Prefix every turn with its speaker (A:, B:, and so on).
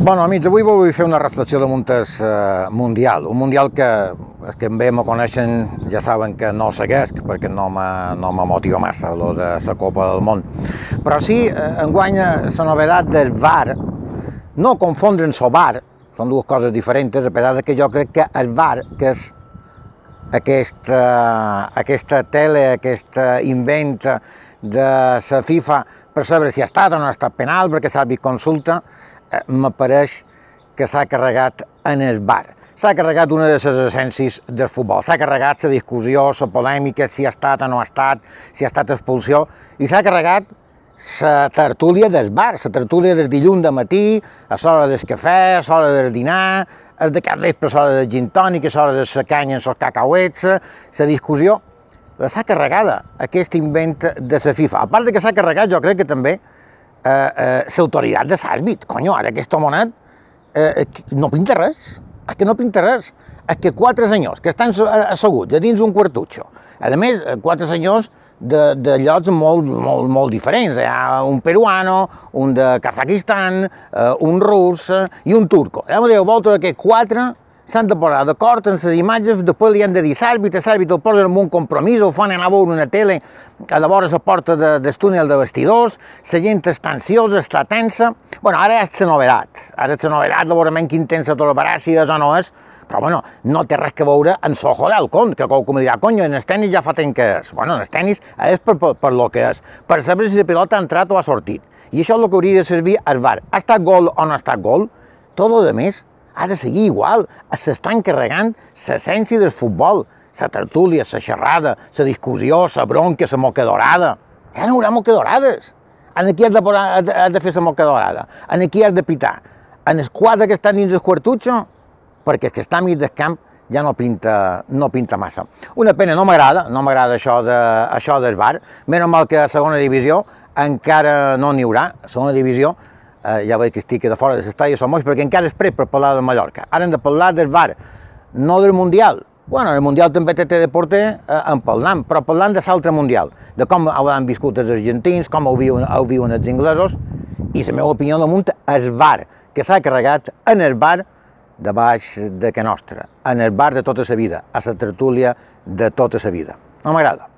A: Bueno, amics, avui vull fer una reflexió damunt el Mundial. Un Mundial que els que bé me coneixen ja saben que no seguesc, perquè no me motiva massa, lo de la Copa del Món. Però sí, enguany la novedat del VAR, no confondre amb el VAR, són dues coses diferents, a pesar que jo crec que el VAR, que és aquesta tele, aquest invent de la FIFA per saber si ha estat o no ha estat penal, perquè l'àrbit consulta, m'apareix que s'ha carregat en el VAR. S'ha carregat una de les essències del futbol, s'ha carregat la discussió, la polèmica, si ha estat o no ha estat, si ha estat expulsió, i s'ha carregat la tertúlia del bar, la tertúlia del dilluns de matí, a l'hora del cafè, a l'hora del dinar, el de cap vespre, a l'hora del gin tònic, a l'hora de la canya amb els cacauets, la discussió, s'ha carregada, aquest invent de la FIFA. A part de que s'ha carregat, jo crec que també l'autoritat de l'àrbit. Conyo, ara aquest homonet no pinta res, és que no pinta res. És que quatre senyors que estan asseguts a dins un quartutxo, a més, quatre senyors de llocs molt diferents. Hi ha un peruano, un de Kazakistan, un rus i un turco. Volta d'aquests quatre s'han de posar d'acord en les imatges, després li han de dir l'àrbit el posen en un compromís, ho fan anar a veure una tele a la vora la porta del túnel de vestidors, la gent està ansiosa, està tensa. Bueno, ara és la novedat, de veure quin tensa tolerar si és o no és, però bueno, no té res que veure amb l'ojo d'halcón, que qualcú em dirà, conyo, en el tenis ja fa temps que és. Bueno, en el tenis és per lo que és, per saber si la pilota ha entrat o ha sortit. I això és el que hauria de servir al VAR. Ha estat gol o no ha estat gol? Tot el més ha de seguir igual, s'estan carregant l'essència del futbol, la tertúlia, la xerrada, la discussió, la bronca, la moquedorada. Ja no hi haurà moquedorades. Aquí has de fer la moquedorada, aquí has de pitar. En els quatre que estan dins el quartutxo, perquè el que està a mig del camp ja no pinta massa. Una pena, no m'agrada això del VAR, menys mal que a segona divisió encara no n'hi haurà, a segona divisió. Ja veig que estic de fora de l'estadi de Somos, perquè encara és pres per parlar de Mallorca. Ara hem de parlar del VAR, no del Mundial. Bueno, el Mundial també té de porter en parlant, però parlant de l'altre Mundial, de com hauran viscut els argentins, com ho viuen els inglesos, i la meva opinió damunt és el VAR, que s'ha carregat en el bar de baix de Can Nostra, en el bar de tota la vida, a la tertúlia de tota la vida. No m'agrada.